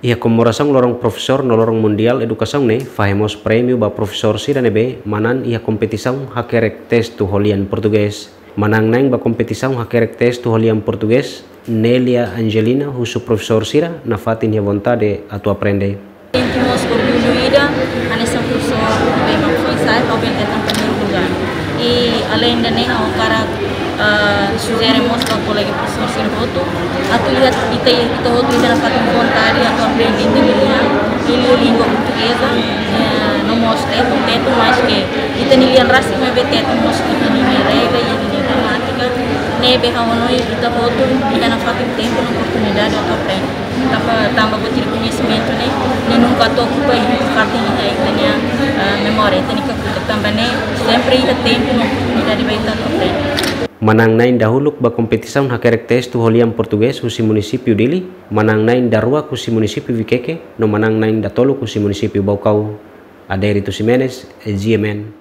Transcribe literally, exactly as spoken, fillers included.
Iha komemorasaun Loron Profesór no Loron Mundiál Edukasaun ne'e fahe mós prémiu ba profesór sira ne'ebé manán iha kompetisaun hakerek testu ho lian portugés. Manán-na'in ba kompetisaun hakerek testu ho lian portugés, Nélia Angelina, husu profesór sira nafatin iha vontade atu aprende. Sente mós orgullu ida, hanesan profesór ne'ebé mak foin sai, atu hetan primeiru lugár. I alende ne'e, ha'u hakarak, ah, sujere mós ba kolega profesór sira hotu, atu iha, ita, ita hotu iha nafatin vontade atu aprende ita-nia lian, i língua portugeza, eh, no mós Tetun, Tetun, maske ita-nia lian rasik maibé Tetun mós iha ninia regra, iha ninia gramátika, ne'ebé ha'u hanoin ita hotu iha nafatin tempu no oportunidade atu aprende. Tanba, tanba buat ida koñesimentu ne'e, ne'e nunka atu okupa iha fatin iha ita-nia, ah, memória, ita-nia kakutak, tanba ne'e sempre iha tempu no oportunidade ba ita atu aprende. Manán-na'in dahuluk ba kompetisaun hakerek testu ho lian portugés husi munisípiu Dili, manán-na'in daruak husi munisípiu Viqueque, no manán-na'in datoluk husi munisípiu Baucau. Adérito Ximenes, G M N.